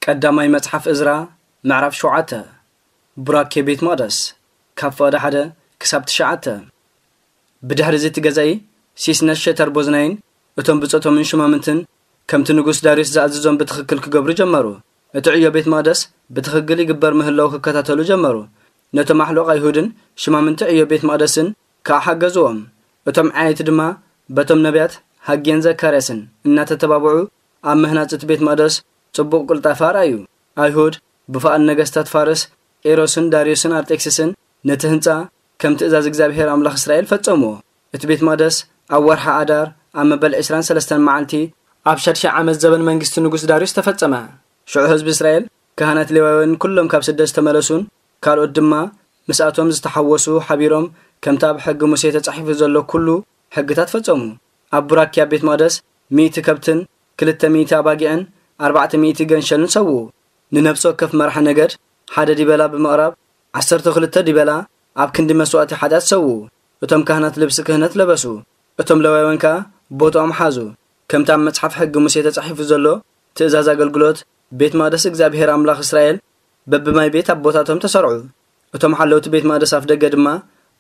ቀዳማይ መጽሓፍ እዝራ ምዕራፍ ሸውዓተ። ቡራኬ ቤት መቕደስ ካብ ፍቕዲ ሓደ ክሳብ ትሽዓተ። ብድሕሪ እዚ እቲ ገዛኢ ሲስነስ ሸተር ቦዝናይን እቶም ብጾቶምን ሽማምንትን ከምቲ ንጉስ ዳርዮስ ዝኣዘዞም ብትኽክል ክገብሩ ጀመሩ። እቲ ዕዮ ቤት መቕደስ ብትኽክል ይግበር ምህላው ክከታተሉ ጀመሩ። ነቶም ኣሕሉቕ ኣይሁድን ሽማምንቲ ዕዮ ቤት መቕደስን ከኣ ሓገዝዎም። እቶም ዓየይቲ ድማ በቶም ነቢያት ሃጌን ዘካርያስን እናተተባብዑ ኣብ ምህናጽ እቲ ቤት መቕደስ ጽቡቕ ቅልጣፈ ኣርኣዩ። ኣይሁድ ብፍቓድ ነገስታት ፋርስ ቂሮስን ዳርዮስን ኣርጤክስስን ነቲ ህንጻ ከም ትእዛዝ እግዚኣብሔር ኣምላኽ እስራኤል ፈጸምዎ። እቲ ቤት መቕደስ ኣብ ወርሒ ኣዳር ኣብ መበል ዕስራን ሰለስተን መዓልቲ ኣብ ሻድሻይ ዓመት ዘበን መንግስቲ ንጉስ ዳርዮስ ተፈጸመ። ሽዑ ህዝቢ እስራኤል፣ ካህናት ሌዋውያን ኩሎም ካብ ስደት ዝተመለሱን ካልኦት ድማ ምስኣቶም ዝተሓወሱ ሓቢሮም ከምቲ ኣብ ሕጊ ሙሴ ተጻሒፉ ዘሎ ኩሉ ሕግታት ፈጸሙ። ኣብ ቡራኪ ኣብ ቤት መቕደስ ሚእቲ ከብትን ክልተ ሚእቲ ኣባጊዕን ኣርባዕተ ሚእቲ ገንሸልን ሰውኡ። ንነፍሲ ወከፍ መራሒ ነገድ ሓደ ዲበላ ብምቕራብ ዓሰርተ ክልተ ዲበላ ኣብ ክንዲ መስዋእቲ ሓጢኣት ሰውኡ። እቶም ካህናት ልብሲ ክህነት ለበሱ። እቶም ለዋውያን ከኣ ቦታኦም ሓዙ። ከምቲ ኣብ መጽሓፍ ሕጊ ሙሴ ተጻሒፉ ዘሎ ትእዛዝ ኣገልግሎት ቤት መቕደስ እግዚኣብሔር ኣምላኽ እስራኤል በብማይ ቤት ኣቦታቶም ተሰርዑ። እቶም ሓለውቲ ቤት መቕደስ ኣፍ ደገ ድማ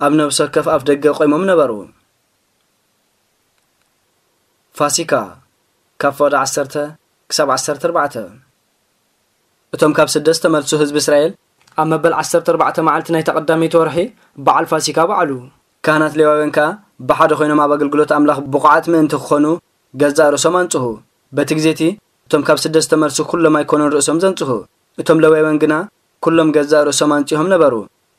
ኣብ ነፍሲ ወከፍ ኣፍ ደገ ቆይሞም ነበሩ። ፋሲካ ካብ ፍቕዲ ዓሰርተ ክሳብ ዓሰርተ ኣርባዕተ። እቶም ካብ ስደት ዝተመልሱ ህዝቢ እስራኤል ኣብ መበል ዓሰርተ ኣርባዕተ መዓልቲ ናይታ ቀዳመይቲ ወርሒ በዓል ፋሲካ በዓሉ። ካህናት ሌዋውያን ከኣ ብሓደ ኮይኖም ኣብ ኣገልግሎት ኣምላኽ ብቑዓት ምእንቲ ክኾኑ ገዛእ ርእሶም ኣንጽሁ። በቲ ግዜ እቲ እቶም ካብ ስደት ዝተመልሱ ኩሎም ኣይኮኑን ርእሶም ዘንጽሁ። እቶም ሌዋውያን ግና ኩሎም ገዛእ ርእሶም ኣንጺሆም ነበሩ።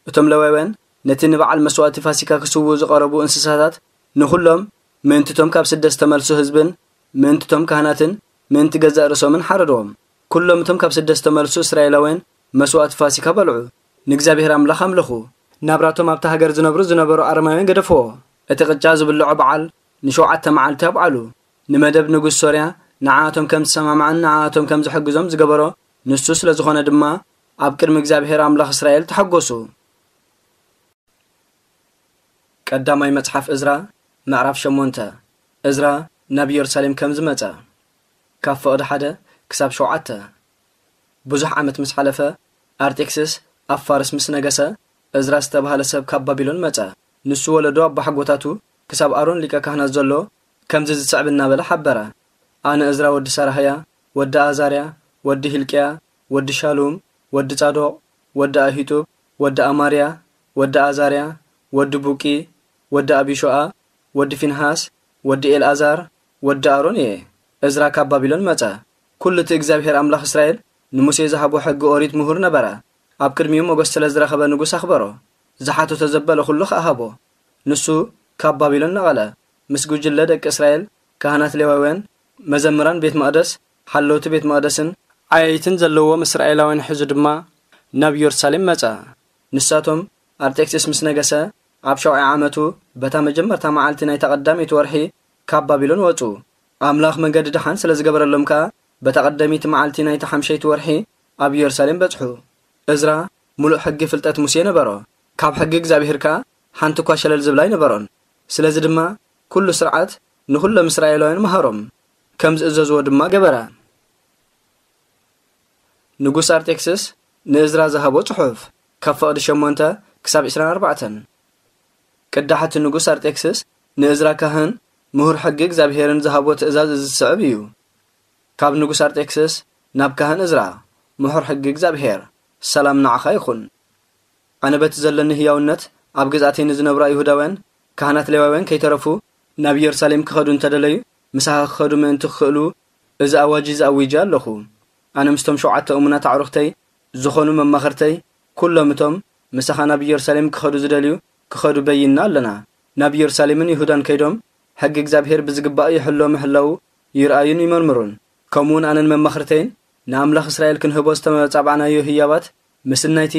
እቶም ሌዋውያን ነቲ ንበዓል መስዋእቲ ፋሲካ ክስውኡ ዝቐረቡ እንስሳታት ንኹሎም ምእንቲ እቶም ካብ ስደት ዝተመልሱ ህዝብን ምእንቲ እቶም ካህናትን ምእንቲ ገዛእ ርእሶምን ሓረድዎም። ኩሎም እቶም ካብ ስደት ዝተመልሱ እስራኤላውያን መስዋእቲ ፋሲካ በልዑ፣ ንእግዚኣብሔር ኣምላኽ ኣምለኹ። ናብራቶም ኣብታ ሃገር ዝነብሩ ዝነበሩ ኣረማውያን ገደፍዎ። እቲ ቅጫ ዝብልዖ በዓል ንሸውዓተ መዓልቲ ኣብዓሉ። ንመደብ ንጉስ ሶርያ ንዓኣቶም ከም ዝሰማማዕን ንዓኣቶም ከም ዝሕግዞም ዝገበሮ ንሱ ስለ ዝኾነ ድማ ኣብ ቅድሚ እግዚኣብሔር ኣምላኽ እስራኤል ተሓጎሱ። ቀዳማይ መጽሓፍ እዝራ ምዕራፍ ሸሞንተ። እዝራ ናብ ኢየሩሳሌም ከም ዝመጸ። ካብ ፍቕዲ ሓደ ክሳብ ሸውዓተ። ብዙሕ ዓመት ምስ ሓለፈ ኣርጤክስስ ኣብ ፋርስ ምስ ነገሰ እዝራ ዝተባህለ ሰብ ካብ ባቢሎን መጸ። ንሱ ወለዶ ኣቦሓጎታቱ ክሳብ ኣሮን ሊቀ ካህናት ዘሎ ከምዚ ዝስዕብ እናበለ ሓበረ። ኣነ እዝራ ወዲ ሰራህያ፣ ወዲ ኣዛርያ፣ ወዲ ሂልቅያ፣ ወዲ ሻሉም፣ ወዲ ጻዶቕ፣ ወዲ ኣሂጡብ፣ ወዲ ኣማርያ፣ ወዲ ኣዛርያ፣ ወዲ ቡቂ፣ ወዲ ኣቢሾኣ፣ ወዲ ፊንሃስ፣ ወዲ ኤልኣዛር፣ ወዲ ኣሮን እየ። እዝራ ካብ ባቢሎን መጸ። ኩሉ እቲ እግዚኣብሔር ኣምላኽ እስራኤል ንሙሴ ዝሃቦ ሕጊ ኦሪት ምሁር ነበረ። ኣብ ቅድሚኡ ሞገስ ስለ ዝረኸበ ንጉስ ኣኽበሮ። ዝሓተቶ ዘበለ ኩሉ ከኣ ሃቦ። ንሱ ካብ ባቢሎን ነቐለ። ምስ ጉጅለ ደቂ እስራኤል፣ ካህናት ሌዋውያን፣ መዘምራን ቤት መቕደስ፣ ሓለውቲ ቤት መቕደስን ዓየይትን ዘለዎም እስራኤላውያን ሒዙ ድማ ናብ ኢየሩሳሌም መጸ። ንሳቶም ኣርጤክስስ ምስ ነገሰ ኣብ ሸውዓይ ዓመቱ በታ መጀመርታ መዓልቲ ናይታ ቀዳመይቲ ወርሒ ካብ ባቢሎን ወጹ። ኣምላኽ መንገዲ ደሓን ስለ ዝገበረሎም ከኣ በታ ቀዳመይቲ መዓልቲ ናይታ ሓምሸይቲ ወርሒ ኣብ ኢየሩሳሌም በጽሑ። እዝራ ምሉእ ሕጊ ፍልጠት ሙሴ ነበሮ። ካብ ሕጊ እግዚኣብሔር ከኣ ሓንቲ እኳ ሸለል ዝብላ ኣይነበሮን። ስለዚ ድማ ኩሉ ስርዓት ንኹሎም እስራኤላውያን መሃሮም። ከም ዝእዘዝዎ ድማ ገበረ። ንጉስ ኣርጤክስስ ንእዝራ ዝሃቦ ጽሑፍ ካብ ፍቕዲ ሸሞንተ ክሳብ ዕስራን ኣርባዕተን። ቅዳሕ እቲ ንጉስ ኣርጤክስስ ንእዝራ ካህን ምሁር ሕጊ እግዚኣብሔርን ዝሃቦ ትእዛዝ እዚ ዝስዕብ እዩ። ካብ ንጉስ ኣርጤክስስ ናብ ካህን እዝራ፣ ምሁር ሕጊ እግዚኣብሔር፣ ሰላም ንዓኻ ይኹን። ኣነ በቲ ዘለኒ ህያውነት ኣብ ግዝኣተይ ንዝነብሩ ኣይሁዳውያን ካህናት ሌዋውያን ከይተረፉ ናብ ኢየሩሳሌም ክኸዱ እንተደለዩ ምሳኻ ክኸዱ ምእንቲ ክኽእሉ እዚ ኣዋጅ እዚ ኣዊጀ ኣለኹ። ኣነ ምስቶም ሸውዓተ እሙናት ኣዕሩኽተይ ዝኾኑ መማኽርተይ ኩሎም እቶም ምሳኻ ናብ ኢየሩሳሌም ክኸዱ ዝደልዩ ክኸዱ በይንና ኣለና። ናብ ኢየሩሳሌምን ይሁዳን ከይዶም ሕጊ እግዚኣብሔር ብዝግባእ ይሕሎ ምህላዉ ይርኣዩን ይመርምሩን። ከምኡውን ኣነን መማኽርተይን ንኣምላኽ እስራኤል ክንህቦ ዝተመጻባዕናዮ ህያባት ምስናይቲ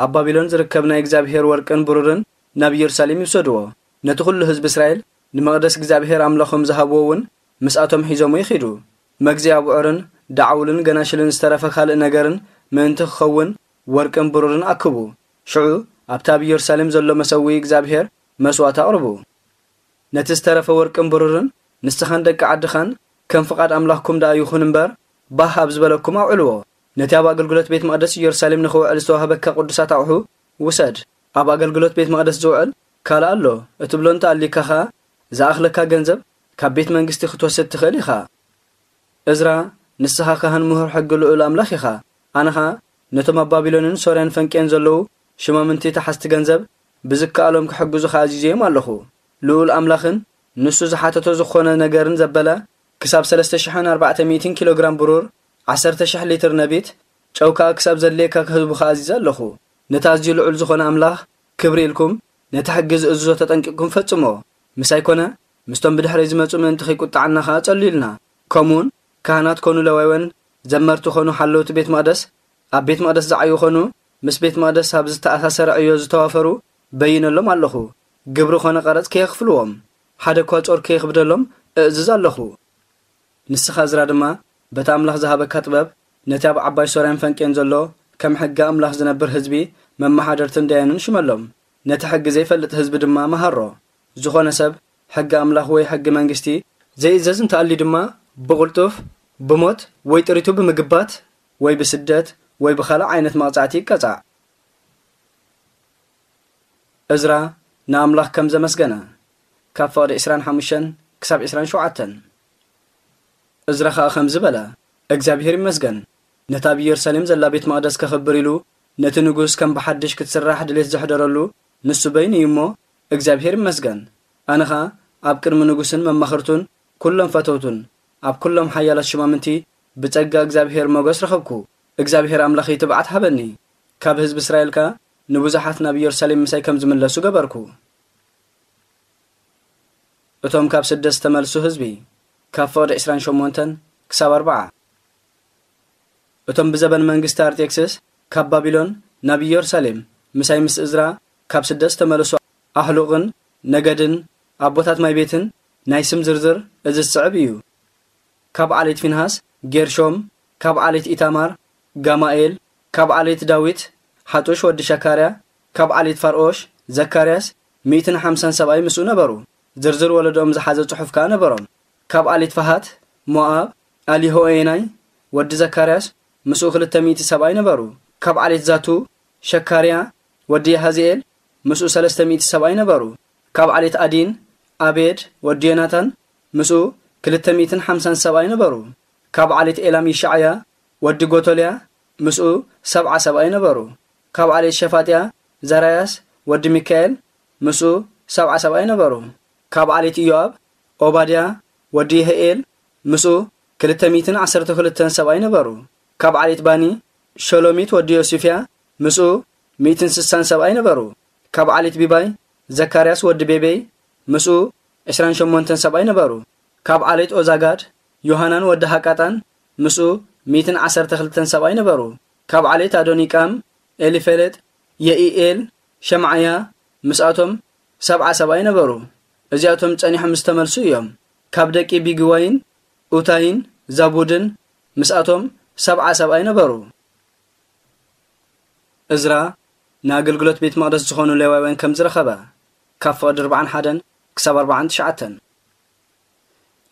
ኣብ ባቢሎን ዝርከብ ናይ እግዚኣብሔር ወርቅን ብሩርን ናብ ኢየሩሳሌም ይውሰድዎ። ነቲ ኩሉ ህዝቢ እስራኤል ንመቕደስ እግዚኣብሔር ኣምላኾም ዝሃብዎ እውን ምስኣቶም ሒዞምዎ ይኺዱ። መግዚ ኣብዑርን ደዓውልን ገናሽልን ዝተረፈ ካልእ ነገርን ምእንቲ ክኸውን ወርቅን ብሩርን ኣክቡ። ሽዑ ኣብቲ ኣብ ኢየሩሳሌም ዘሎ መሰውኢ እግዚኣብሔር መስዋእቲ ኣቕርቡ። ነቲ ዝተረፈ ወርቅን ብሩርን ንስኻን ደቂ ዓድኻን ከም ፍቓድ ኣምላኽኩም ደኣ ይኹን እምበር፣ ባህ ኣብ ዝበለኩም ኣውዕልዎ። ነቲ ኣብ ኣገልግሎት ቤት መቕደስ ኢየሩሳሌም ንኽውዕል ዝተዋህበካ ቅዱሳት ኣቑሑ ውሰድ። ኣብ ኣገልግሎት ቤት መቕደስ ዝውዕል ካልእ ኣሎ እትብሎ እንተኣልዩካ ኸኣ፣ ዝኣኽለካ ገንዘብ ካብ ቤት መንግስቲ ክትወስድ ትኽእል ኢኻ። እዝራ፣ ንስኻ ካህን ምሁር ሕጊ ልዑል ኣምላኽ ኢኻ። ኣነ ኸኣ ነቶም ኣብ ባቢሎንን ሶርያን ፈንቅየን ዘለዉ ሽማምንቲ ተሓዝቲ ገንዘብ ብዝከኣሎም ክሕግዙኻ ኣዚዘዮም ኣለኹ። ልዑል ኣምላኽን ንሱ ዝሓተቶ ዝኾነ ነገርን ዘበለ ክሳብ ሰለስተ ሽሕን ኣርባዕተ ሚእትን ኪሎ ግራም ብሩር፣ ዓሰርተ ሽሕ ሊትር ነቢት፣ ጨው ከኣ ክሳብ ዘድልየካ ክህቡኻ ኣዚዘ ኣለኹ። ነቲ ኣዝዩ ልዑል ዝኾነ ኣምላኽ ክብሪ ኢልኩም ነቲ ሕጊ ዝእዝዞ ተጠንቂቕኩም ፈጽሞ። ምሳይ ኮነ ምስቶም ብድሕረይ ዝመጹ ምእንቲ ከይቁጥዓና ከኣ ጸልዩልና። ከምኡውን ካህናት ኮኑ ለዋውያን፣ ዘመርቲ ኮኑ ሓለውቲ ቤት መቕደስ፣ ኣብ ቤት መቕደስ ዝዓዩ ኮኑ ምስ ቤት መቕደስ ኣብ ዝተኣሳሰረ ዕዮ ዝተዋፈሩ በይነሎም ኣለኹ። ግብሪ ኮነ ቀረጽ ከየኽፍልዎም፣ ሓደ እኳ ጾር ከየኽብደሎም እእዝዝ ኣለኹ። ንስኻ እዝራ ድማ በቲ ኣምላኽ ዝሃበካ ጥበብ ነቲ ኣብ ዓባይ ሶርያን ፈንቅየን ዘሎ ከም ሕጊ ኣምላኽ ዝነብር ህዝቢ መመሓደርትን ደያኑን ሽመሎም። ነቲ ሕጊ ዘይፈልጥ ህዝቢ ድማ መሃሮ። ዝኾነ ሰብ ሕጊ ኣምላኽ ወይ ሕጊ መንግስቲ ዘይእዘዝ እንተኣልዩ ድማ ብቕልጡፍ ብሞት ወይ ጥሪቱ ብምግባት ወይ ብስደት ወይ ብኻልእ ዓይነት መቕጻዕቲ ይቀጻዕ። እዝራ ንኣምላኽ ከም ዘመስገነ፣ ካብ ፍቕዲ ዕስራን ሓሙሽተን ክሳብ ዕስራን ሸውዓተን። እዝራ ኸኣ ከምዚ በለ፣ እግዚኣብሄር ይመስገን፣ ነታ ኣብ ኢየሩሳሌም ዘላ ቤት መቕደስ ከኽብር ኢሉ፣ ነቲ ንጉስ ከም ብሓድሽ ክትስራሕ ድሌት ዘሕደረሉ ንሱ በይኑ እዩ እሞ፣ እግዚኣብሄር ይመስገን። ኣነ ኸኣ ኣብ ቅድሚ ንጉስን መማኽርቱን ኩሎም ፈተውቱን ኣብ ኩሎም ሓያላት ሽማምንቲ ብጸጋ እግዚኣብሄር ሞገስ ረኸብኩ። እግዚኣብሄር ኣምላኸይ ትብዓት ሃበኒ። ካብ ህዝቢ እስራኤል ከኣ ንብዙሓት ናብ ኢየሩሳሌም ምሳይ ከም ዝምለሱ ገበርኩ። እቶም ካብ ስደት ዝተመልሱ ህዝቢ፣ ካብ ፍቕዲ ዕስራን ሸሞንተን ክሳብ ኣርብዓ። እቶም ብዘበን መንግስቲ ኣርጤክስስ ካብ ባቢሎን ናብ ኢየሩሳሌም ምሳይ ምስ እዝራ ካብ ስደት ዝተመለሱ ኣህሉቕን ነገድን ኣቦታት ማይ ቤትን ናይ ስም ዝርዝር እዚ ዝስዕብ እዩ። ካብ ዓሌት ፊንሃስ ጌርሾም፣ ካብ ዓሌት ኢታማር ጋማኤል፣ ካብ ዓሌት ዳዊት ሓጡሽ ወዲ ሸካርያ፣ ካብ ዓሌት ፋርኦሽ ዘካርያስ ሚእትን ሓምሳን ሰብኣይ ምስኡ ነበሩ። ዝርዝር ወለዶኦም ዝሓዘ ጽሑፍ ከኣ ነበሮም። ካብ ዓሌት ፈሃት ሞኣብ ኣሊሆኤናይ ወዲ ዘካርያስ ምስኡ ክልተ ሚእቲ ሰብኣይ ነበሩ። ካብ ዓሌት ዛቱ ሸካርያ ወዲ ያሃዝኤል ምስኡ ሰለስተ ሚእቲ ሰብኣይ ነበሩ። ካብ ዓሌት ኣዲን ኣቤድ ወዲ ዮናታን ምስኡ ክልተ ሚእትን ሓምሳን ሰብኣይ ነበሩ። ካብ ዓሌት ኤላም ይሻዕያ ወዲ ጎቶልያ ምስኡ ሰብዓ ሰብኣይ ነበሩ። ካብ ዓሌት ሸፋጥያ ዘራያስ ወዲ ሚካኤል ምስኡ ሰብዓ ሰብኣይ ነበሩ። ካብ ዓሌት ኢዮኣብ ኦባድያ ወዲ ይህኤል ምስኡ ክልተ ሚእትን ዓሰርተ ክልተን ሰብኣይ ነበሩ። ካብ ዓሌት ባኒ ሸሎሚት ወዲ ዮሲፍያ ምስኡ ሚእትን ስሳን ሰብኣይ ነበሩ። ካብ ዓሌት ቢባይ ዘካርያስ ወዲ ቤቤይ ምስኡ ዕስራን ሸሞንተን ሰብኣይ ነበሩ። ካብ ዓሌት ኦዛጋድ ዮሃናን ወዲ ሃቃጣን ምስኡ ሚእትን ዓሰርተ ክልተን ሰብኣይ ነበሩ። ካብ ዓሌት ኣዶኒቃም ኤሊፌሌጥ የኢኤል ሸምዓያ ምስኣቶም ሰብዓ ሰብኣይ ነበሩ። እዚኣቶም ጸኒሖም ዝተመልሱ እዮም። ካብ ደቂ ቢግዋይን ኡታይን ዛቡድን ምስኣቶም ሰብዓ ሰብኣይ ነበሩ። እዝራ ንኣገልግሎት ቤት መቕደስ ዝኾኑ ሌዋውያን ከም ዝረኸበ፣ ካብ ፍቕዲ ኣርባዓን ሓደን ክሳብ ኣርባዓን ትሽዓተን።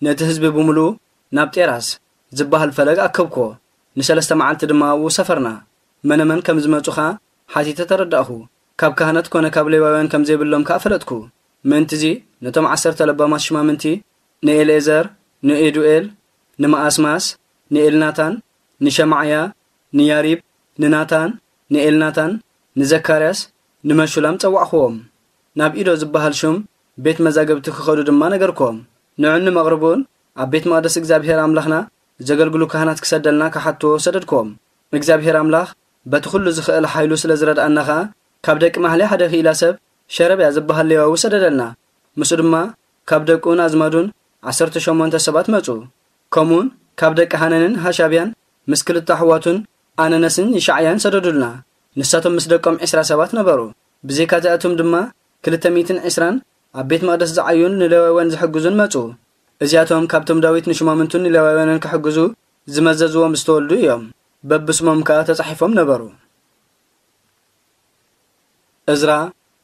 ነቲ ህዝቢ ብምሉኡ ናብ ጤራስ ዝበሃል ፈለግ ኣከብክዎ። ንሰለስተ መዓልቲ ድማ ኣብኡ ሰፈርና። መነመን ከም ዝመጹ ኸኣ ሓቲተ ተረዳእኹ። ካብ ካህናት ኮነ ካብ ሌዋውያን ከም ዘይብሎም ከኣ ፈለጥኩ። ምእንትዚ ነቶም ዓሰርተ ለባማት ሽማምንቲ፣ ንኤልኤዘር፣ ንኤዱኤል፣ ንመኣስማስ፣ ንኤልናታን፣ ንሸማዕያ፣ ንያሪብ፣ ንናታን፣ ንኤልናታን፣ ንዘካርያስ፣ ንመሹላም ጸዋዕኽዎም። ናብ ኢዶ ዝበሃል ሹም ቤት መዛግብቲ ክኸዱ ድማ ነገርክዎም። ንዑን ንመቕርቡን ኣብ ቤት መቕደስ እግዚኣብሔር ኣምላኽና ዘገልግሉ ካህናት ክሰደልና ክሓትዎ ሰደድክዎም። እግዚኣብሔር ኣምላኽ በቲ ኹሉ ዝኽእል ሓይሉ ስለ ዝረድኣና ኸኣ፣ ካብ ደቂ ማህሌ ሓደ ክኢላ ሰብ ሸረብያ ዝበሃል ሌዋዊ ሰደደልና። ምስኡ ድማ ካብ ደቁን ኣዝማዱን ዓሰርተ ሸሞንተ ሰባት መጹ። ከምኡውን ካብ ደቂ ሃነንን ሃሻብያን ምስ ክልተ ኣሕዋቱን ኣነነስን ይሻዕያን ሰደዱልና። ንሳቶም ምስ ደቆም ዕስራ ሰባት ነበሩ። ብዘይካ እዚኣቶም ድማ ክልተ ሚእትን ዕስራን ኣብ ቤት መቕደስ ዝዓዩን ንሌዋውያን ዝሕግዙን መጹ። እዚኣቶም ካብቶም ዳዊት ንሹማምንቱን ንሌዋውያንን ክሕግዙ ዝመዘዝዎም ዝተወልዱ እዮም። በብስሞም ከኣ ተጻሒፎም ነበሩ። እዝራ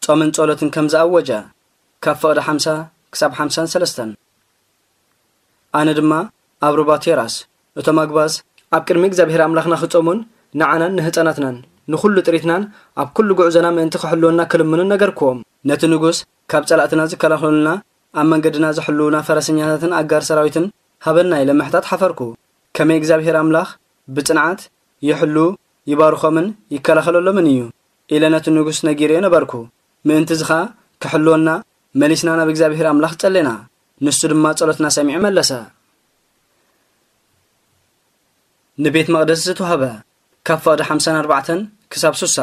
ጾምን ጸሎትን ከም ዝኣወጀ፣ ካብ ፍቕዲ ሓምሳ ክሳብ ሓምሳን ሰለስተን። ኣነ ድማ ኣብ ሩባ ቴራስ፣ እቶም ኣግባዝ ኣብ ቅድሚ እግዚኣብሔር ኣምላኽና ክጾሙን ንዓናን ንህጻናትናን ንኹሉ ጥሪትናን ኣብ ኩሉ ጉዕዞና ምእንቲ ክሕልወና ክልምኑ ነገርክዎም። ነቲ ንጉስ ካብ ጸላእትና ዝከላኸሉልና፣ ኣብ መንገድና ዝሕልዉና ፈረሰኛታትን ኣጋር ሰራዊትን ሃበና ኢለ ምሕታት ሓፈርኩ። ከመይ እግዚኣብሔር ኣምላኽ ብጽንዓት ይሕሉ፣ ይባርኾምን ይከላኸለሎምን እዩ ኢለ ነቲ ንጉስ ነጊረዮ ነበርኩ። ምእንቲ እዚ ኸኣ ክሕልወና መሊስና ናብ እግዚኣብሔር ኣምላኽ ጸሌና። ንሱ ድማ ጸሎትና ሰሚዑ መለሰ። ንቤት መቕደስ ዝተዋህበ፣ ካብ ፍቕዲ ሓምሳን ኣርባዕተን ክሳብ ሱሳ።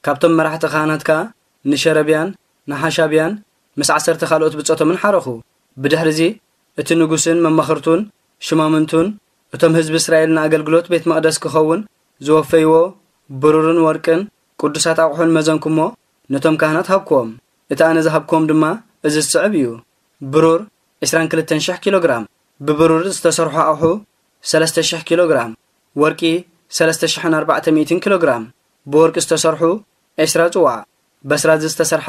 ካብቶም መራሕቲ ካህናት ከኣ ንሸረብያን ንሓሻብያን ምስ ዓሰርተ ካልኦት ብጾቶምን ሓረኹ። ብድሕሪዚ እቲ ንጉስን መማኽርቱን ሽማምንቱን እቶም ህዝቢ እስራኤል ንኣገልግሎት ቤት መቕደስ ክኸውን ዝወፈይዎ ብሩርን ወርቅን ቅዱሳት ኣቑሑን መዘንኩሞ ነቶም ካህናት ሃብክዎም። እቲ ኣነ ዝሃብክዎም ድማ እዚ ዝስዕብ እዩ። ብሩር ዕስራን ክልተን ሽሕ ኪሎ ግራም፣ ብብሩር ዝተሰርሑ ኣቑሑ ሰለስተ ሽሕ ኪሎ ግራም፣ ወርቂ ሰለስተ ሽሕን ኣርባዕተ ሚእትን ኪሎ ግራም፣ ብወርቂ ዝተሰርሑ ዕስራ ጽዋዕ፣ በስራዚ ዝተሰርሐ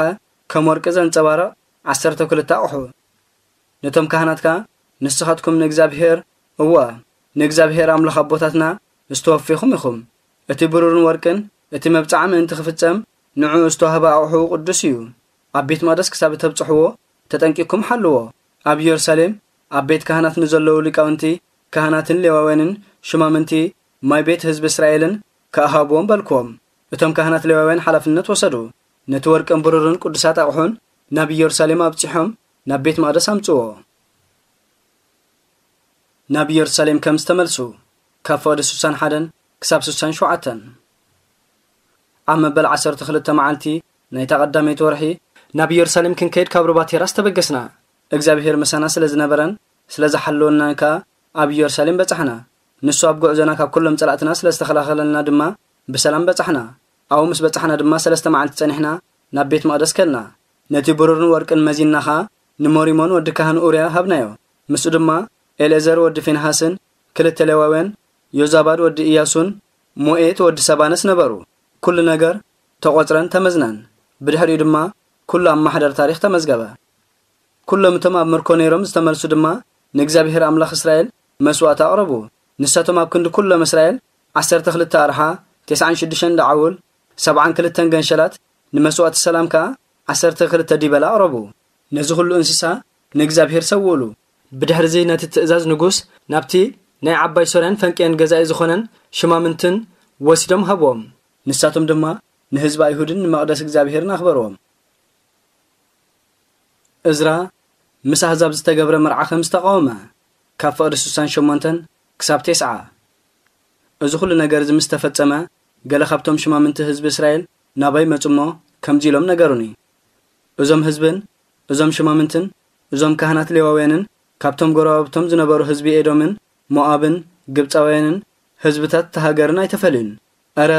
ከም ወርቂ ዘንጸባርቕ ዓሰርተ ክልተ ኣቑሑ። ነቶም ካህናት ከኣ፣ ንስኻትኩም ንእግዚኣብሄር፣ እወ፣ ንእግዚኣብሄር ኣምላኽ ኣቦታትና ዝተወፌኹም ኢኹም። እቲ ብሩርን ወርቅን እቲ መብጽዓ ምእንቲ ክፍጸም ንዕኡ ዝተዋህበ ኣቑሑ ቅዱስ እዩ። ኣብ ቤት መቕደስ ክሳብ እተብጽሕዎ ተጠንቂቕኩም ሓልዎ። ኣብ ኢየሩሳሌም ኣብ ቤት ካህናት ንዘለዉ ሊቃውንቲ ካህናትን ሌዋውያንን ሽማምንቲ ማይ ቤት ህዝቢ እስራኤልን ክእሃብዎም በልክዎም። እቶም ካህናት ሌዋውያን ሓላፍነት ወሰዱ። ነቲ ወርቅን ብሩርን ቅዱሳት ኣቑሑን ናብ ኢየሩሳሌም ኣብጺሖም ናብ ቤት መቕደስ ኣምጽዎ። ናብ ኢየሩሳሌም ከም ዝተመልሱ፣ ካብ ፍቕዲ ስሳን ሓደን ክሳብ ስሳን ሸውዓተን። ኣብ መበል ዓሰርተ ክልተ መዓልቲ ናይታ ቀዳመይቲ ወርሒ ናብ ኢየሩሳሌም ክንከይድ ካብ ሩባ ቴራስ ተበገስና። እግዚኣብሔር ምሳና ስለ ዝነበረን ስለ ዝሓለወናን ከኣ ኣብ ኢየሩሳሌም በጻሕና። ንሱ ኣብ ጉዕዞና ካብ ኩሎም ጸላእትና ስለ ዝተኸላኸለልና ድማ ብሰላም በጻሕና። ኣብኡ ምስ በጻሕና ድማ ሰለስተ መዓልቲ ጸኒሕና ናብ ቤት መቕደስ ከድና። ነቲ ብሩርን ወርቅን መዚንና ኸኣ ንሞሪሞን ወዲ ካህን ኡርያ ሃብናዮ። ምስኡ ድማ ኤልኤዘር ወዲ ፊንሃስን ክልተ ሌዋውያን፣ ዮዛባድ ወዲ ኢያሱን ሞኤት ወዲ ሰባንስ ነበሩ። ኩሉ ነገር ተቖጽረን ተመዝነን። ብድሕሪኡ ድማ ኩሉ ኣብ ማሕደር ታሪኽ ተመዝገበ። ኩሎም እቶም ኣብ ምርኮ ነይሮም ዝተመልሱ ድማ ንእግዚኣብሔር ኣምላኽ እስራኤል መስዋእቲ ኣቕረቡ። ንሳቶም ኣብ ክንዲ ኩሎም እስራኤል ዓሰርተ ክልተ ኣርሓ፣ ተስዓን ሽዱሽተን ደዓውል፣ ሰብዓን ክልተን ገንሸላት፣ ንመስዋእቲ ሰላም ከኣ ዓሰርተ ክልተ ዲበላ ኣቕረቡ። ነዚ ኩሉ እንስሳ ንእግዚኣብሔር ሰውእሉ። ብድሕርዚ ነቲ ትእዛዝ ንጉስ ናብቲ ናይ ዓባይ ሶርያን ፈንቅያን ገዛኢ ዝኾነን ሽማምንትን ወሲዶም ሃብዎም። ንሳቶም ድማ ንህዝቢ ኣይሁድን ንመቕደስ እግዚኣብሔርን ኣኽበርዎም። እዝራ ምስ ኣህዛብ ዝተገብረ መርዓ ከም ዝተቃወመ፣ ካብ ፍቕዲ ስሳን ሸሞንተን ክሳብ ቴስዓ። እዚ ኩሉ ነገር እዚ ምስ ተፈጸመ፣ ገለ ካብቶም ሽማምንቲ ህዝቢ እስራኤል ናባይ መጹ እሞ ከምዚ ኢሎም ነገሩኒ። እዞም ህዝብን እዞም ሽማምንትን እዞም ካህናት ሌዋውያንን ካብቶም ጎረባብቶም ዝነበሩ ህዝቢ ኤዶምን ሞኣብን ግብጻውያንን ህዝብታት እታ ሃገርን ኣይተፈልዩን። እረ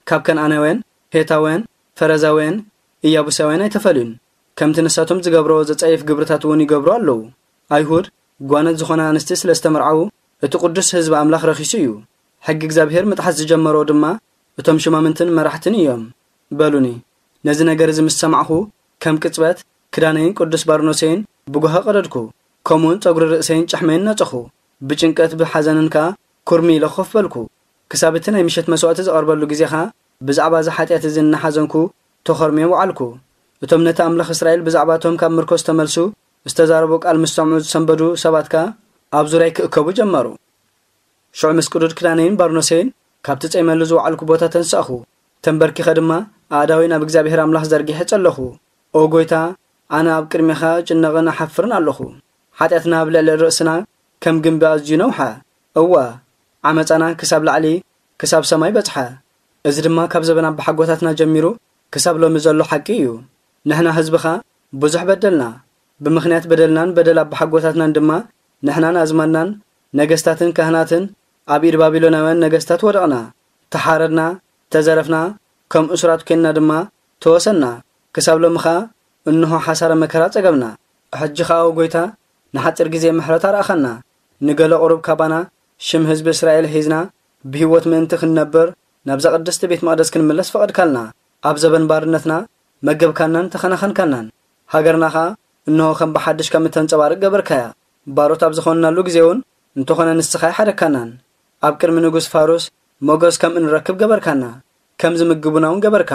ካብ ከነኣናውያን፣ ሄታውያን፣ ፈረዛውያን፣ ኢያቡሳውያን ኣይተፈልዩን። ከምቲ ንሳቶም ዝገብርዎ ዘጸይፍ ግብርታት እውን ይገብሩ ኣለዉ። ኣይሁድ ጓነት ዝኾና ኣንስቲ ስለ ዝተመርዓዉ እቲ ቅዱስ ህዝቢ ኣምላኽ ረኺሱ እዩ። ሕጊ እግዚኣብሔር ምጥሓስ ዝጀመርዎ ድማ እቶም ሽማምንትን መራሕትን እዮም በሉኒ። ነዚ ነገር እዚ ምስ ሰማዕኹ ከም ቅጽበት ክዳነይን ቅዱስ ባርኖሰይን ብጓሂ ቀደድኩ። ከምኡውን ጸጉሪ ርእሰይን ጭሕመይን ነጸኹ። ብጭንቀት ብሓዘንን ከኣ ኩርሚ ኢለ ኮፍ በልኩ። ክሳብ እቲ ናይ ምሸት መስዋእቲ ዝቐርበሉ ግዜ ኸኣ ብዛዕባ እዚ ሓጢኣት እዚ እናሓዘንኩ ተኾርምየ ወዓልኩ። እቶም ነቲ ኣምላኽ እስራኤል ብዛዕባ እቶም ካብ ምርኮ ዝተመልሱ ዝተዛረቦ ቃል ምስ ሰምዑ ዝሰንበዱ ሰባት ከኣ ኣብ ዙርያይ ክእከቡ ጀመሩ። ሽዑ ምስ ቅዱድ ክዳነይን ባርኖሰይን ካብቲ ጸይመሉ ዝወዓልኩ ቦታ ተንሳእኹ። ተንበርኪኸ ድማ ኣእዳወይ ናብ እግዚኣብሔር ኣምላኽ ዘርጊሐ ጸለኹ። ኦ ጐይታ፣ ኣነ ኣብ ቅድሜኻ እጭነቕን እሓፍርን ኣለኹ። ሓጢኣትና ኣብ ልዕሊ ርእስና ከም ግምቢ ኣዝዩ ነውሐ። እወ፣ ዓመጻና ክሳብ ላዕሊ፣ ክሳብ ሰማይ በጽሐ። እዚ ድማ ካብ ዘበን ኣባሓጎታትና ጀሚሩ ክሳብ ሎሚ ዘሎ ሓቂ እዩ። ንሕና ህዝብኻ ብዙሕ በደልና። ብምኽንያት በደልናን በደል ኣባሓጎታትናን ድማ ንሕናን ኣዝማድናን ነገስታትን ካህናትን ኣብ ኢድ ባቢሎናውያን ነገስታት ወደቕና። ተሓረድና፣ ተዘረፍና፣ ከም እሱራት ኴንና ድማ ተወሰና። ክሳብ ሎሚ ኸኣ እንሆ ሓሳረ መከራ ጸገብና። ሕጂ ኸኣ ኦ ጐይታ፣ ንሓጺር ግዜ ምሕረት ኣርኣኻና። ንገለ ቁሩብ ካባና ሽም ህዝቢ እስራኤል ሒዝና ብህይወት ምእንቲ ክንነብር ናብዛ ቅድስቲ ቤት መቕደስ ክንምለስ ፈቐድካልና። ኣብ ዘበን ባርነትና መገብካናን ተኸናኸንካናን። ሃገርና ኸኣ እንሆ ከም ብሓድሽ ከም እተንጸባርቕ ገበርካያ። ባሮት ኣብ ዝኾንናሉ ግዜ እውን እንተኾነ ንስኻ ኣይሓደግካናን። ኣብ ቅድሚ ንጉስ ፋሩስ ሞገስ ከም እንረክብ ገበርካና። ከም ዝምግቡና እውን ገበርካ።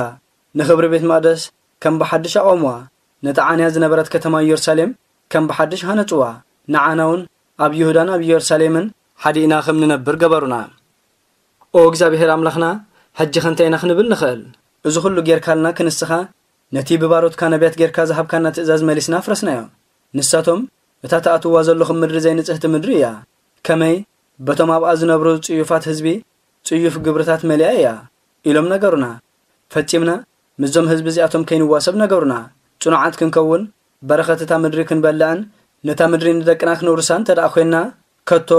ንኽብሪ ቤት መቕደስ ከም ብሓድሽ ኣቖምዋ። ነታ ዓንያ ዝነበረት ከተማ ኢየሩሳሌም ከም ብሓድሽ ሃነጽዋ። ንዓና እውን ኣብ ይሁዳን ኣብ ኢየሩሳሌምን ሓዲእና ከም ንነብር ገበሩና። ኦ እግዚኣብሔር ኣምላኽና፣ ሕጂ ኸ እንታይ ኢና ክንብል ንኽእል? እዚ ኹሉ ጌርካልና ክንስኻ፣ ነቲ ብባሮትካ ነቢያት ጌርካ ዝሃብካና ትእዛዝ መሊስና ኣፍረስናዮ። ንሳቶም፣ "እታ ትኣትዋ ዘለኹም ምድሪ ዘይንጽህቲ ምድሪ እያ። ከመይ በቶም ኣብኣ ዝነብሩ ጽዩፋት ህዝቢ ጽዩፍ ግብርታት መሊኣ እያ" ኢሎም ነገሩና። ፈጺምና ምስዞም ህዝቢ እዚኣቶም ከይንዋሰብ ነገሩና። ጽኑዓት ክንከውን፣ በረኸት እታ ምድሪ ክንበልዕን ነታ ምድሪ ንደቅና ክንውርሳ እንተ ደኣ ኾይንና፣ ከቶ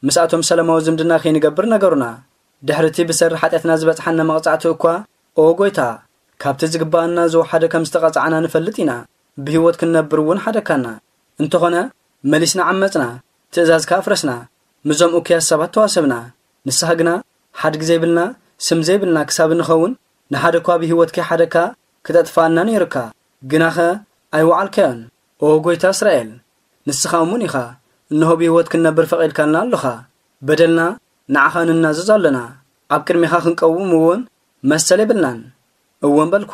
ምስኣቶም ሰላማዊ ዝምድና ከይንገብር ነገሩና። ድሕሪ እቲ ብሰሪ ሓጢኣትና ዝበጽሓና መቕጻዕቲ እኳ፣ ኦ ጎይታ፣ ካብቲ ዝግብኣና ዝወሓደ ከም ዝተቐጻዕና ንፈልጥ ኢና። ብህይወት ክንነብር እውን ሓደግካና። እንተኾነ፣ መሊስና ዓመጽና፣ ትእዛዝካ ኣፍረስና፣ ምስዞም እኩያት ሰባት ተዋሰብና። ንስኻ ግና፣ ሓድጊ ዘይብልና፣ ስም ዘይብልና ክሳብ እንኸውን፣ ንሓደ እኳ ብህይወት ከይሓደግካ ክተጥፍኣና ነይሩካ። ግናኸ ኣይወዓልካዮን። ኦ ጎይታ እስራኤል፣ ንስኻ እሙን ኢኻ። እንሆ ብህይወት ክንነብር ፈቒድካልና ኣሎኻ። በደልና ንዓኻ ንናዘዝ ኣሎና። ኣብ ቅድሚኻ ክንቀውም እውን መሰል የብልናን። እወን በልኩ።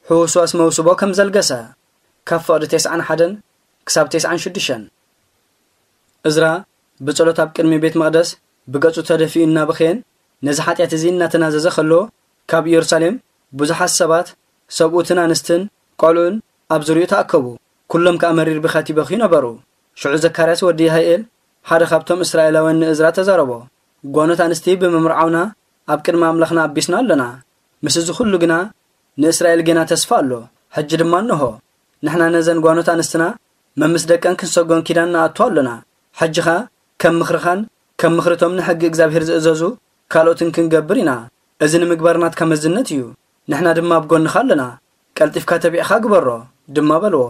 ሕውስዋስ መውስቦ ከም ዘልገሰ፣ ካብ ፍቕዲ ተስዓን ሓደን ክሳብ ተስዓን ሽዱሽተን። እዝራ ብጸሎት ኣብ ቅድሚ ቤት መቕደስ ብገጹ ተደፊኡ እናበኸየን ነዚ ሓጢኣት እዚ እናተናዘዘ ኸሎ፣ ካብ ኢየሩሳሌም ብዙሓት ሰባት፣ ሰብኡትን ኣንስትን ቆልዑን ኣብ ዙርያኡ ተኣከቡ። ኩሎም ከኣ መሪር ብኸት ይበኽዩ ነበሩ። ሽዑ ዘካርያስ ወዲ ይሃኤል፣ ሓደ ካብቶም እስራኤላውያን ንእዝራ ተዛረቦ። ጓኖት ኣንስቲ ብምምርዓውና ኣብ ቅድሚ ኣምላኽና ኣቢስና ኣሎና። ምስ እዚ ኹሉ ግና ንእስራኤል ጌና ተስፋ ኣሎ። ሕጂ ድማ እንሆ፣ ንሕና ነዘን ጓኖት ኣንስትና መምስ ደቀን ክንሰጎን ኪዳን ንኣቱ ኣሎና። ሕጂ ኸኣ ከም ምኽርኻን ከም ምኽሪ እቶም ንሕጊ እግዚኣብሔር ዝእዘዙ ካልኦትን ክንገብር ኢና። እዚ ንምግባር ናትካ መዝነት እዩ። ንሕና ድማ ኣብ ጎንኻ ኣሎና። ቀልጢፍካ ተቢዕኻ ግበሮ ድማ በልዎ።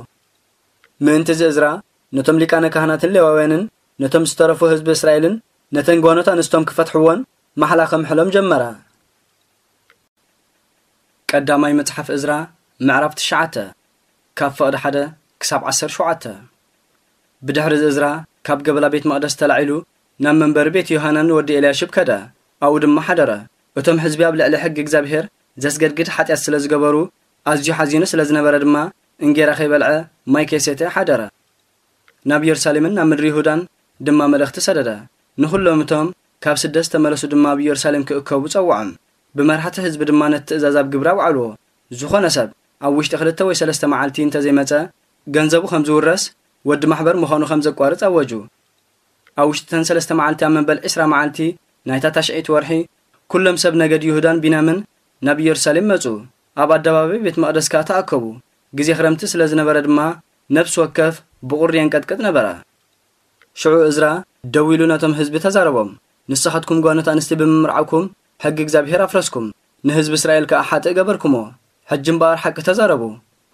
ምእንቲ እዚ እዝራ ነቶም ሊቃነ ካህናትን ሌዋውያንን ነቶም ዝተረፉ ህዝቢ እስራኤልን ነተን ጓኖት ኣንስቶም ክፈትሕዎን ማሕላ ከምሕሎም ጀመረ። ቀዳማይ መጽሓፍ እዝራ ምዕራፍ ትሽዓተ፣ ካብ ፍቕዲ ሓደ ክሳብ ዓሰርተ ሸውዓተ። ብድሕሪ እዚ እዝራ ካብ ገበላ ቤት መቕደስ ተላዒሉ ናብ መንበሪ ቤት ዮሃናን ወዲ ኤልያሽብ ከደ፣ ኣብኡ ድማ ሓደረ። እቶም ህዝቢ ኣብ ልዕሊ ሕጊ እግዚኣብሔር ዘስገድግድ ሓጢኣት ስለ ዝገበሩ፣ ኣዝዩ ሓዚኑ ስለ ዝነበረ ድማ እንጌራ ከይበልዐ ማይ ከይሰተየ ሓደረ። ናብ ኢየሩሳሌምን ናብ ምድሪ ይሁዳን ድማ መልእኽቲ ሰደደ። ንኹሎም እቶም ካብ ስደት ዝተመለሱ ድማ ኣብ ኢየሩሳሌም ክእከቡ ጸውዖም። ብመራሕቲ ህዝቢ ድማ ነቲ ትእዛዝ ኣብ ግብሪ ኣውዓልዎ። ዝኾነ ሰብ ኣብ ውሽጢ ክልተ ወይ ሰለስተ መዓልቲ እንተዘይመጸ፣ ገንዘቡ ከም ዝውረስ፣ ወዲ ማሕበር ምዃኑ ከም ዘቋርጽ ኣወጁ። ኣብ ውሽጢ እተን ሰለስተ መዓልቲ ኣብ መበል ዕስራ መዓልቲ ናይታ ታሽዐይቲ ወርሒ፣ ኩሎም ሰብ ነገድ ይሁዳን ቢንያምን ናብ ኢየሩሳሌም መጹ። ኣብ ኣደባባይ ቤት መቕደስ ከኣ ተኣከቡ። ግዜ ክረምቲ ስለ ዝነበረ ድማ፣ ነፍሲ ወከፍ ብቑሪ የንቀጥቅጥ ነበረ። ሽዑ እዝራ ደው ኢሉ ነቶም ህዝቢ ተዛረቦም፣ "ንስኻትኩም ጓኖት ኣንስቲ ብምምርዓውኩም፣ ሕጊ እግዚኣብሔር ኣፍረስኩም፣ ንህዝቢ እስራኤል ከኣ ሓጥእ ገበርኩሞ። ሕጂ እምበኣር ሓቂ ተዛረቡ።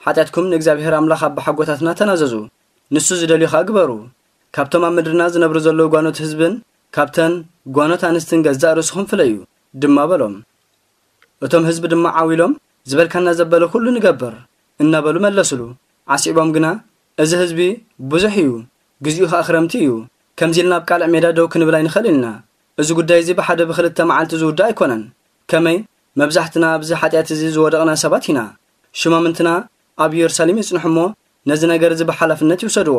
ሓጢኣትኩም ንእግዚኣብሔር ኣምላኽ ኣቦሓጎታትና ተናዘዙ። ንሱ ዝደልዮ ከኣ ግበሩ። ካብቶም ኣብ ምድርና ዝነብሩ ዘለዉ ጓኖት ህዝብን ካብተን ጓኖት ኣንስትን ገዛእ ርእስኹም ፍለዩ" ድማ በሎም። እቶም ህዝቢ ድማ ዓው ኢሎም፣ "ዝበልካና ዘበለ ኩሉ ንገብር" እናበሉ መለሱሉ። ዓሲቦም ግና፣ "እዚ ህዝቢ ብዙሕ እዩ፣ ግዜኡ ኸኣ ክረምቲ እዩ። ከምዚ ኢልና ኣብ ቃልዕ ሜዳ ደው ክንብል ኣይንኽእልን ኢና። እዚ ጉዳይ እዚ ብሓደ ብኽልተ መዓልቲ ዝውዳእ ኣይኮነን። ከመይ መብዛሕትና ኣብዚ ሓጢኣት እዚ ዝወደቕና ሰባት ኢና። ሽማምንትና ኣብ ኢየሩሳሌም ይጽንሑ እሞ፣ ነዚ ነገር እዚ ብሓላፍነት ይውሰድዎ።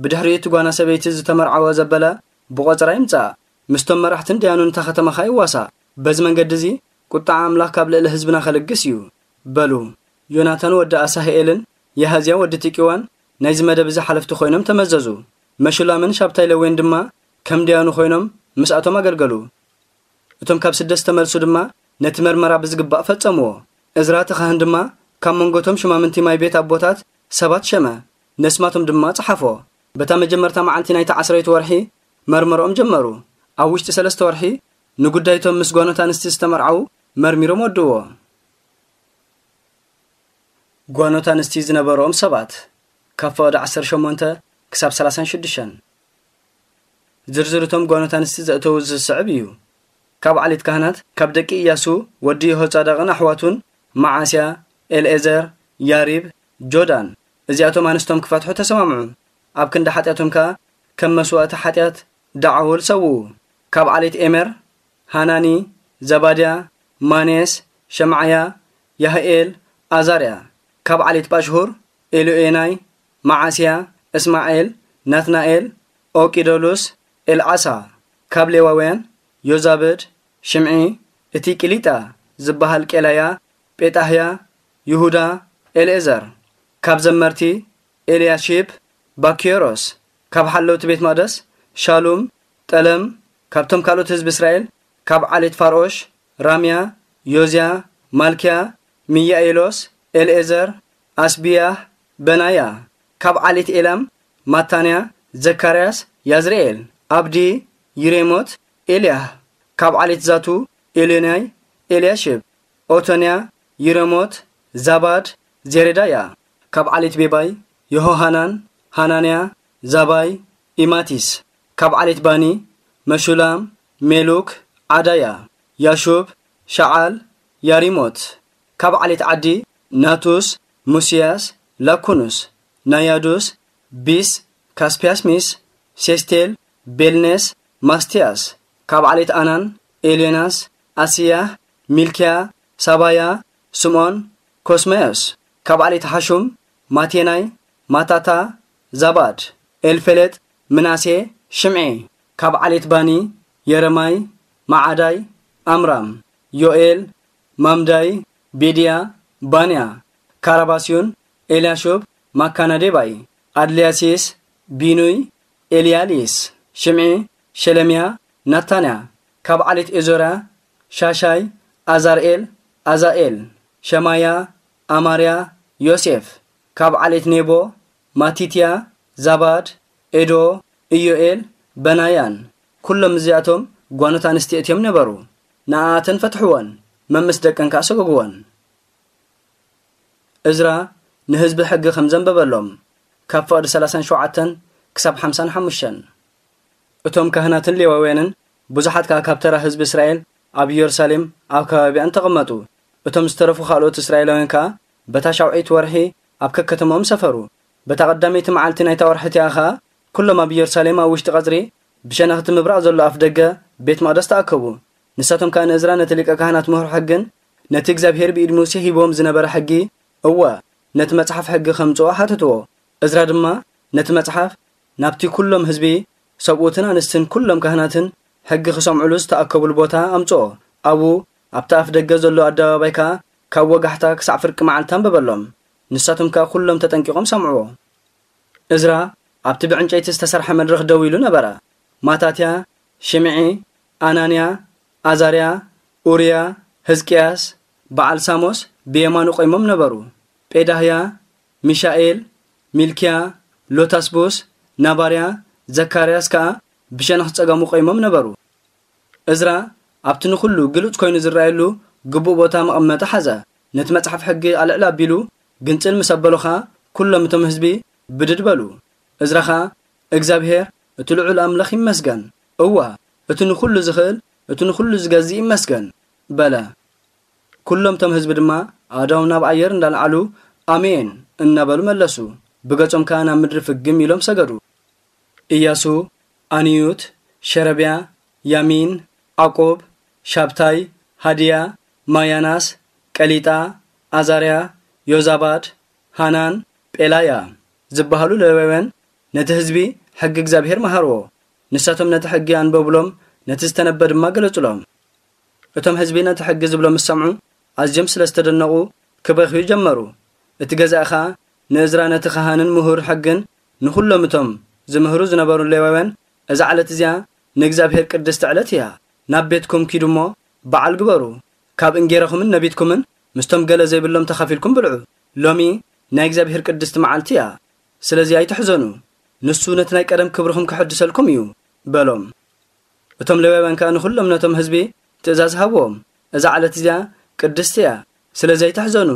ብድሕሪኡ እቲ ጓና ሰበይቲ ዝተመርዓወ ዘበለ ብቖጸራ ይምጻእ፣ ምስቶም መራሕትን ደያኑን እታ ኸተማ ኸኣ ይዋሳእ። በዚ መንገዲ እዚ ቁጥዓ ኣምላኽ ካብ ልዕሊ ህዝብና ኸልግስ እዩ" በሉ። ዮናታን ወዲ ኣሳህኤልን ያሃዝያ ወዲ ቲቂዋን ናይዚ መደብ እዚ ሓለፍቲ ኾይኖም ተመዘዙ። መሹላምን ሻብታይ ለዌን ድማ ከም ደያኑ ኾይኖም ምስኣቶም ኣገልገሉ። እቶም ካብ ስደት ዝተመልሱ ድማ ነቲ መርመራ ብዝግባእ ፈጸምዎ። እዝራ እቲ ካህን ድማ ካብ መንጎቶም ሽማምንቲ ማይ ቤት ኣቦታት ሰባት ሸመ፣ ነስማቶም ድማ ጸሓፎ። በታ መጀመርታ መዓልቲ ናይታ ዓስረይቲ ወርሒ መርመርኦም ጀመሩ። ኣብ ውሽጢ ሰለስተ ወርሒ ንጉዳይቶም ምስ ጓኖት ኣንስቲ ዝተመርዓዉ መርሚሮም ወድእዎ። ጓኖት ኣንስቲ ዝነበርኦም ሰባት፣ ካብ ፍቕዲ ዓሰርተ ሸሞንተ ክሳብ ሰላሳን ሽዱሽተን። ዝርዝር እቶም ጓኖት ኣንስቲ ዘእተዉ ዝስዕብ እዩ። ካብ ዓሌት ካህናት፣ ካብ ደቂ ኢያሱ ወዲ የሆጻዳቕን ኣሕዋቱን፣ መዓስያ፣ ኤልኤዘር፣ ያሪብ፣ ጆዳን፣ እዚኣቶም ኣንስቶም ክፈትሑ ተሰማምዑ። ኣብ ክንዲ ሓጢኣቶም ከኣ ከም መስዋእቲ ሓጢኣት ደዓውል ሰውኡ። ካብ ዓሌት ኤሜር፣ ሃናኒ፣ ዘባድያ፣ ማኔስ፣ ሸምዓያ፣ ያህኤል፣ ኣዛርያ። ካብ ዓሌት ጳሽሁር፣ ኤልዮኤናይ፣ መዓስያ፣ እስማኤል፣ ናትናኤል፣ ኦቂደሉስ፣ ኤልዓሳ። ካብ ሌዋውያን፣ ዮዛብድ፣ ሽምዒ፣ እቲ ቂሊጣ ዝበሃል ቄላያ፣ ጴጣህያ፣ ይሁዳ፣ ኤልኤዘር። ካብ ዘመርቲ፣ ኤልያሺብ፣ ባኪዮሮስ። ካብ ሓለውቲ ቤት መቕደስ፣ ሻሉም፣ ጠለም። ካብቶም ካልኦት ህዝቢ እስራኤል፣ ካብ ዓሌት ፋርኦሽ፣ ራምያ፣ ዮዝያ፣ ማልክያ፣ ሚያኤሎስ፣ ኤልኤዘር፣ ኣስብያህ፣ በናያ። ካብ ዓሌት ኤላም፣ ማታንያ፣ ዘካርያስ፣ ያዝርኤል፣ ኣብዲ፣ ይሬሞት፣ ኤልያህ። ካብ ዓሌት ዛቱ፣ ኤልዮናይ፣ ኤልያሽብ፣ ኦቶንያ፣ ይሬሞት፣ ዛባድ፣ ዜሬዳያ። ካብ ዓሌት ቤባይ፣ የሆሃናን፣ ሃናንያ፣ ዛባይ፣ ኢማቲስ። ካብ ዓሌት ባኒ፣ መሹላም፣ ሜሉክ፣ ዓዳያ፣ ያሹብ፣ ሸዓል፣ ያሪሞት። ካብ ዓሌት ዓዲ፣ ናቱስ፣ ሙስያስ፣ ላኩኑስ፣ ናያዱስ፣ ቢስ፣ ካስፒያስሚስ፣ ሴስቴል፣ ቤልኔስ፣ ማስቲያስ። ካብ ዓሌት ኣናን፣ ኤልዮናስ፣ ኣስያህ፣ ሚልክያ፣ ሳባያ፣ ስምዖን፣ ኮስማዮስ። ካብ ዓሌት ሓሹም፣ ማቴናይ፣ ማታታ፣ ዛባድ፣ ኤልፌሌጥ፣ ምናሴ፣ ሽምዒ። ካብ ዓሌት ባኒ፣ የረማይ፣ መዓዳይ፣ ኣምራም፣ ዮኤል፣ ማምዳይ፣ ቤድያ፣ ባንያ፣ ካራባስዩን፣ ኤልያሹብ፣ ማካናዴባይ፣ ኣድልያሲስ፣ ቢኑይ፣ ኤልያሊስ፣ ሽምዒ፣ ሸለምያ፣ ናታንያ። ካብ ዓሌት ኤዞራ፣ ሻሻይ፣ ኣዛርኤል፣ ኣዛኤል፣ ሸማያ፣ ኣማርያ፣ ዮሴፍ። ካብ ዓሌት ኔቦ፣ ማቲትያ፣ ዛባድ፣ ኤዶ፣ ኢዮኤል፣ በናያን። ኩሎም እዚኣቶም ጓኖት ኣንስቲ እትዮም ነበሩ። ንኣኣተን ፈትሕወን፣ መምስ ደቀን ከኣ ሰጎግወን። እዝራ ንህዝቢ ሕጊ ከም ዘንበበሎም፣ ካብ ፍቕዲ ሰላሳን ሸውዓተን ክሳብ ሓምሳን ሓሙሽተን። እቶም ካህናትን ሌዋውያንን ብዙሓት ከኣ ካብ ተራ ህዝቢ እስራኤል ኣብ ኢየሩሳሌም ኣብ ከባቢኣን ተቐመጡ። እቶም ዝተረፉ ካልኦት እስራኤላውያን ከኣ በታ ሻውዐይቲ ወርሒ ኣብ ከከተማኦም ሰፈሩ። በታ ቀዳመይቲ መዓልቲ ናይታ ወርሒ እቲኣ ኸኣ ኩሎም ኣብ ኢየሩሳሌም ኣብ ውሽጢ ቀጽሪ ብሸነኽቲ ምብራቕ ዘሎ ኣፍ ደገ ቤት መቕደስ ተኣከቡ። ንሳቶም ከኣ ንእዝራ ነቲ ሊቀ ካህናት ምሁር ሕግን ነቲ እግዚኣብሔር ብኢድ ሙሴ ሂብዎም ዝነበረ ሕጊ፣ እወ፣ ነቲ መጽሓፍ ሕጊ ከምጽኦ ሓተትዎ። እዝራ ድማ ነቲ መጽሓፍ ናብቲ ኩሎም ህዝቢ፣ ሰብኡትን ኣንስትን ኩሎም ካህናትን ሕጊ ክሰምዑሉ ዝተኣከቡሉ ቦታ ኣምጽኦ። ኣብኡ ኣብቲ ኣፍ ደገ ዘሎ ኣደባባይ ከኣ ካብ ወጋሕታ ክሳዕ ፍርቂ መዓልቲ ኣንበበሎም። ንሳቶም ከኣ ኩሎም ተጠንቂቖም ሰምዕዎ። እዝራ ኣብቲ ብዕንጨይቲ ዝተሰርሐ መድረኽ ደው ኢሉ ነበረ። ማታትያ፣ ሽምዒ፣ ኣናንያ፣ ኣዛርያ፣ ኡርያ፣ ህዝቅያስ፣ በዓል ሳሞስ ብየማኑ ቆይሞም ነበሩ። ጴዳህያ፣ ሚሻኤል፣ ሚልክያ፣ ሎታስቡስ፣ ናባርያ፣ ዘካርያስ ከኣ ብሸነኽ ጸጋሙ ቆይሞም ነበሩ። እዝራ ኣብቲ ንኹሉ ግሉጽ ኮይኑ ዝረኣየሉ ግቡእ ቦታ መቐመጢ ሓዘ። ነቲ መጽሓፍ ሕጊ ኣልዕል ኣቢሉ ግንጽል ምስ ኣበሎ ኸኣ፣ ኩሎም እቶም ህዝቢ ብድድ በሉ። እዝራ ኸኣ፣ እግዚኣብሄር እቲ ልዑል ኣምላኽ ይመስገን፣ እወ፣ እቲ ንኹሉ ዝኽእል፣ እቲ ንኹሉ ዝገዝእ ይመስገን በለ። ኩሎም እቶም ህዝቢ ድማ ኣእዳዎም ናብ ኣየር እንዳልዓሉ ኣሜን እናበሉ መለሱ። ብገጾም ከኣ ናብ ምድሪ ፍግም ኢሎም ሰገዱ። ኢያሱ፣ ኣንዩት፣ ሸረብያ፣ ያሚን፣ ዓቁብ፣ ሻብታይ፣ ሃድያ፣ ማያናስ፣ ቀሊጣ፣ ኣዛርያ፣ ዮዛባድ፣ ሃናን፣ ጴላያ ዝበሃሉ ሌዋውያን ነቲ ህዝቢ ሕጊ እግዚኣብሄር መሃርዎ። ንሳቶም ነቲ ሕጊ ኣንበቡሎም፣ ነቲ ዝተነበ ድማ ገለጹሎም። እቶም ህዝቢ ነቲ ሕጊ ዝብሎ ምስ ሰምዑ፣ ኣዝዮም ስለ ዝተደነቑ ክበኽዩ ጀመሩ። እቲ ገዛኢ ኸኣ ንእዝራ ነቲ ኻህንን ምሁር ሕግን ንኹሎም እቶም ዝምህሩ ዝነበሩ ሌዋውያን፣ "እዛ ዕለት እዚኣ ንእግዚኣብሄር ቅድስቲ ዕለት እያ። ናብ ቤትኩም ኪዱ እሞ በዓል ግበሩ። ካብ እንጌራኹምን ነቢትኩምን ምስቶም ገለ ዘይብሎም ተኻፊልኩም ብልዑ። ሎሚ ናይ እግዚኣብሄር ቅድስቲ መዓልቲ እያ። ስለዚ ኣይትሕዘኑ። ንሱ ነቲ ናይ ቀደም ክብርኹም ክሕድሰልኩም እዩ" በሎም። እቶም ሌዋውያን ከኣ ንኹሎም ነቶም ህዝቢ ትእዛዝ ሃብዎም፣ "እዛ ዕለት እዚኣ ቅድስቲ እያ፣ ስለዚ ኣይትሕዘኑ"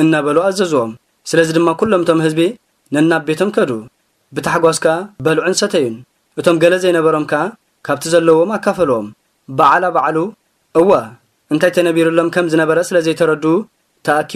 እናበሉ ኣዘዝዎም። ስለዚ ድማ ኩሎም እቶም ህዝቢ ነናብ ቤቶም ከዱ። ብታሕጓስ ከኣ በልዑን ሰተዩን። እቶም ገለ ዘይነበሮም ከኣ ካብቲ ዘለዎም ኣካፈልዎም። በዓላ ባዕሉ፣ እወ፣ እንታይ ተነቢሩሎም ከም ዝነበረ ስለ ዘይተረድኡ ተኣኪቡ